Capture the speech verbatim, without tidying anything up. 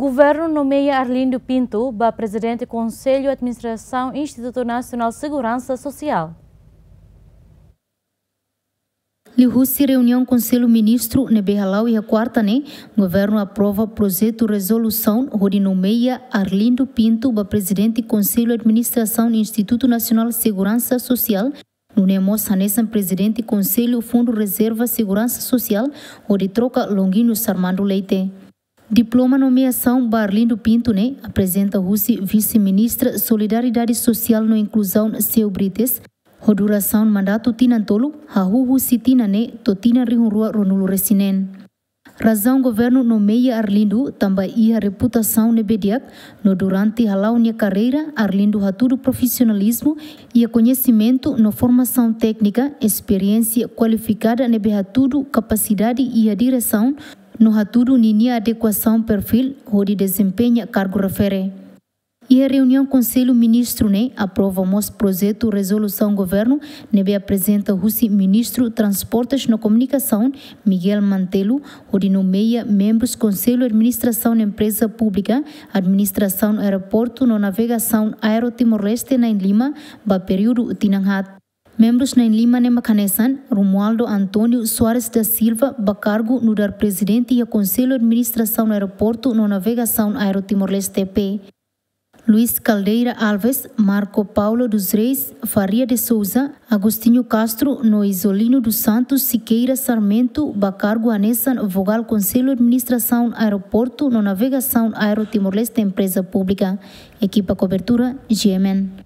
Governu nomeia Arlindo Pinto ba Prezidente Konsellu Administrasaun Institutu Nasionál Seguransa Sosiál. Liuhusi reuniaun Konsellu Ministru ne'ebé hala'o iha kuarta ne'e, Governu aprova projetu rezolusaun hodi nomeia Arlindo Pinto ba Prezidente Konsellu Administrasaun Institutu Nasionál Seguransa Sosiál, nune'e mós hanesan Prezidente Konsellu Fundu Rezerva Seguransa Sosiál, hodi troka Longuinho Sarmando Leite. Diploma nomeasaun ba Arlindo Pinto ne'e aprezenta husi Vise-Ministra Solidariedade Sosiál no Inkluzaun, Seu Brites, ho durasaun mandatu tinan tolu, hahú husi tinan ne'e to'o tinan rihun rua ruanulu-resin-neen. Razaun Governu nomeia Arlindo tanba iha reputasaun ne'ebé di'ak, no durante hala'o nia karreira, Arlindo hatudu profisionalizmu, iha koñesimentu no formasaun téknika, esperiénsia kualifikada ne'ebé hatudu kapasidade iha diresaun, no hatudu ninia adekuasaun perfíl hodi dezempeña kargu refere. Iha reuniaun Konsellu Ministru ne'e aprova mós projetu rezolusaun Governu ne'ebé aprezenta husi Ministru Transportes no Komunikasaun, Miguel Mantello, hodi nomeia membrus Konsellu Administrasaun Empreza Públika, Administrasaun Aeroportu no Navegasaun Aero Timor-Leste na'in-lima ba períodu tinan haat. Membrus na'in-lima ne'e mak hanesan Romualdo António Soares da Silva ba kargu nu'udar Prezidente iha Konsellu Administrasaun Aeroportu no Navegasaun Aero Timor-Leste, P. Luis Caldeira Alves, Marco Paulo dos Reis Faria de Souza, Agostinho Castro no Isolino dos Santos Siqueira Sarmento ba kargu hanesan Vogál Konsellu Administrasaun Aeroportu no Navegasaun Aero Timor-Leste Empreza Públika. Ekipa kobertura, G M N.